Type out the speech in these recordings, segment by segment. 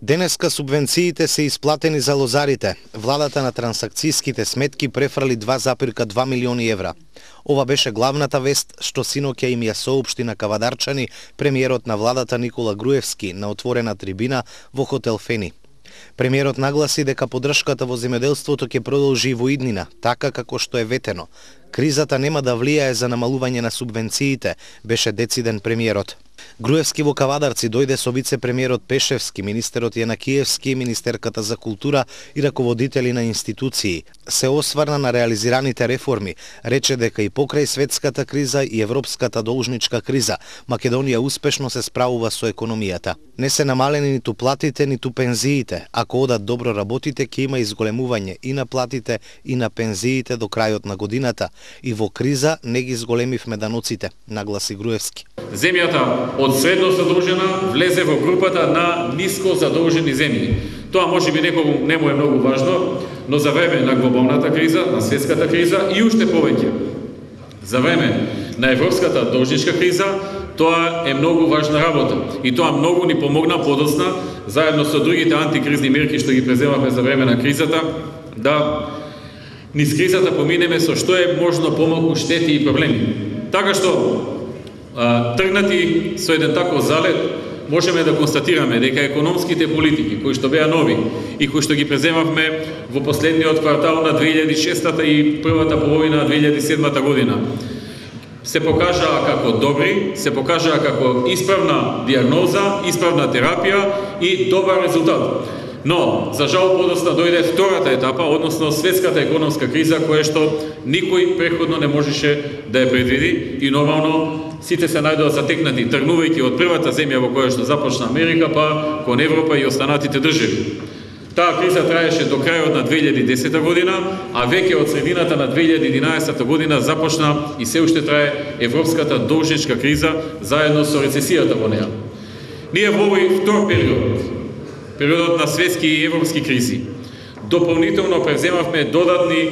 Денеска субвенциите се исплатени за лозарите. Владата на трансакцијските сметки префрли 2,2 милиони евра. Ова беше главната вест што синоќа им ја соопшти на кавадарчани премиерот на владата Никола Груевски на отворена трибина во хотел Фени. Премиерот нагласи дека поддршката во земјоделството ќе продолжи и во иднина, така како што е ветено. Кризата нема да влијае за намалување на субвенциите, беше дециден премиерот. Груевски во Кавадарци дојде со вице-премиерот Пешевски, министерот Јанакиевски, министерката за култура и раководители на институции. Се осврна на реализираните реформи, рече дека и покрај светската криза и европската должничка криза, Македонија успешно се справува со економијата. Не се намалени ниту платите, ниту пензиите. Ако одат добро работите, ќе има изголемување и на платите и на пензиите до крајот на годината. И во криза не ги зголемивме даноците, нагласи Груевски. Земјата од средно задолжена влезе во групата на ниско задолжени земји. Тоа може би некогу не му е многу важно, но за време на глобалната криза, на светската криза и уште повеќе за време на европската должничка криза, тоа е многу важна работа. И тоа многу ни помогна подоцна, заедно со другите антикризни мерки што ги преземавме за време на кризата, да низ кризата поминеме со што е можно помалку штети и проблеми. Така што тргнати со еден таков залет, можеме да констатираме дека економските политики кои што беа нови и кои што ги преземавме во последниот квартал на 2006 и првата половина на 2007 година се покажаа како добри, се покажаа како исправна диагноза, исправна терапија и добар резултат. Но, за жал, подоцна дојде втората етапа, односно светската економска криза, која што никој преходно не можеше да ја предвиди и нормално сите се најдоа затекнати, тргнувајќи од првата земја во која што започна Америка, па кон Европа и останатите држави. Таа криза траеше до крајот на 2010 година, а веќе од средината на 2011 година започна и се уште трае европската должничка криза заедно со рецесијата во неа. Ние во овој втор периодот на светски и европски кризи, дополнително превземавме додатни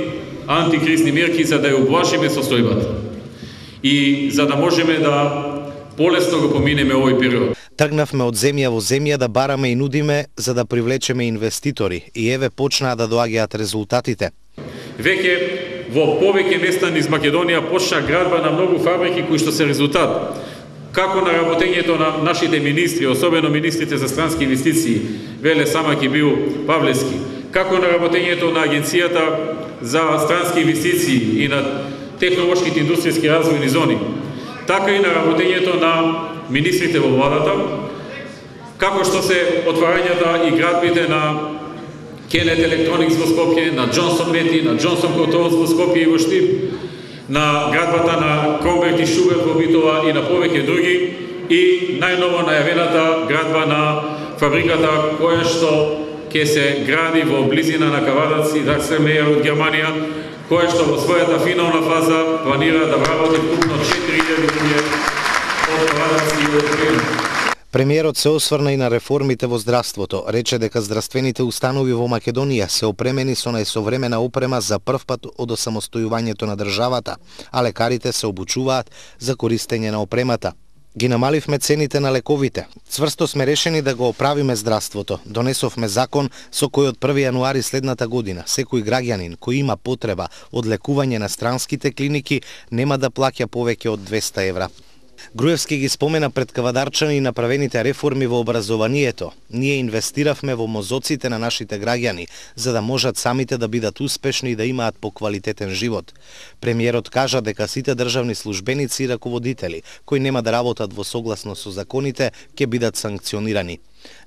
антикризни мерки за да ја ублажиме состојбата и за да можеме да полесно го поминеме овој период. Тргнавме од земја во земја да бараме и нудиме за да привлечеме инвеститори и еве почнаа да доаѓаат резултатите. Веќе во повеќе места низ Македонија почна градба на многу фабрики кои што се резултат како на работењето на нашите министри, особено министрите за странски инвестиции, Веле Самак и Бил Павлевски, како на работењето на Агенцијата за странски инвестиции и на технолошките индустријски развојни зони, така и на работењето на министрите во владата, како што се отварањата и градбите на Кенет Electronics во Скопје, на Джонсон Мети, на Джонсон Контролс во Скопје и во Штип, на градбата на Кромберг и Шуберт во Битола и на повеќе други, и најново најавената градба на фабриката која што ќе се гради во близина на Кавадарци, Даксермејер од Германија, која што во својата финална фаза планира да вработи вкупно 4000 луѓе од Кавадарци и од Френ. Премиерот се осврна и на реформите во здравството. Рече дека здравствените установи во Македонија се опремени со најсовремена опрема за прв пат од осамостојувањето на државата, а лекарите се обучуваат за користење на опремата. Ги намаливме цените на лековите. Цврсто сме решени да го оправиме здравството. Донесовме закон со кој од 1 јануари следната година секој граѓанин кој има потреба од лекување на странските клиники нема да плаќа повеќе од 200 евра. Груевски ги спомена пред кавадарчани и направените реформи во образованието. Ние инвестиравме во мозоците на нашите граѓани, за да можат самите да бидат успешни и да имаат поквалитетен живот. Премиерот кажа дека сите државни службеници и раководители кои нема да работат во согласно со законите ќе бидат санкционирани.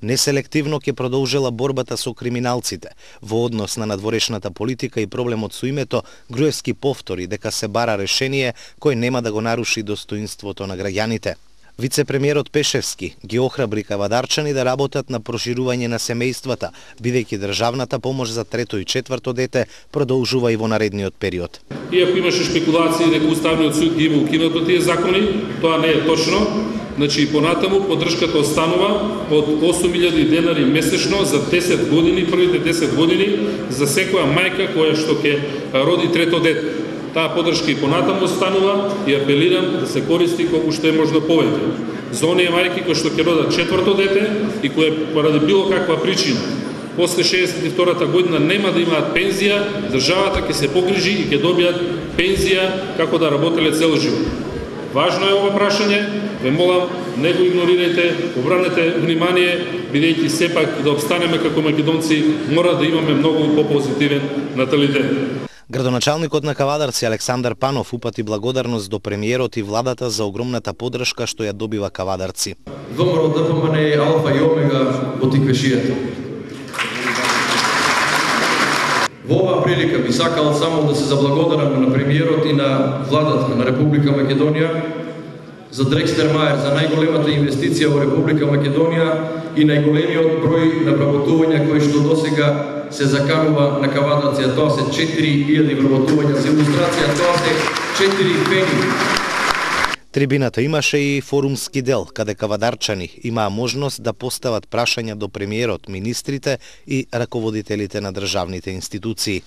Неселективно ќе продолжила борбата со криминалците. Во однос на надворешната политика и проблемот со името, Груевски повтори дека се бара решение кој нема да го наруши достоинството на граѓаните. Вице-премиерот Пешевски ги охрабри кавадарчани да работат на проширување на семејствата, бидејќи државната помош за трето и четврто дете продолжува и во наредниот период. Иако имаше шпекулации дека Уставниот суд ги има укинато тие закони, тоа не е точно. Значи, понатаму поддршката останува од 8000 денари месечно за 10 години, првите 10 години за секоја мајка која што ќе роди трето дете. Таа поддршка и понатаму останува и апелирам да се користи колку што е можно повеќе. за оние мајки кои што ќе родат четврто дете и кои поради било каква причина после 62-та година нема да имаат пензија, државата ќе се погрижи и ќе добијат пензија како да работеле цел живот. Важно е ова прашање, ве молам, не го игнорирајте, обранете внимание, бидејќи сепак да обстанеме како македонци, мора да имаме многу попозитивен наталитет. Градоначалникот на Кавадарци Александар Панов упати благодарност до премиерот и владата за огромната поддршка што ја добива Кавадарци. ВМРО ДПМН е алфа и омега во тиквешијата. Во оваа прилика би сакал само да се заблагодарам на премиерот и на владата на Република Македонија за Дрекстер Мајер, за најголемата инвестиција во Република Македонија и најголемиот број на вработувања кои што досега се заканува на Кавадарци, тоа се 4000 вработувања. За илустрација, тоа се 4 пени. Трибината имаше и форумски дел, каде кавадарчани имаа можност да постават прашања до премиерот, министрите и раководителите на државните институции.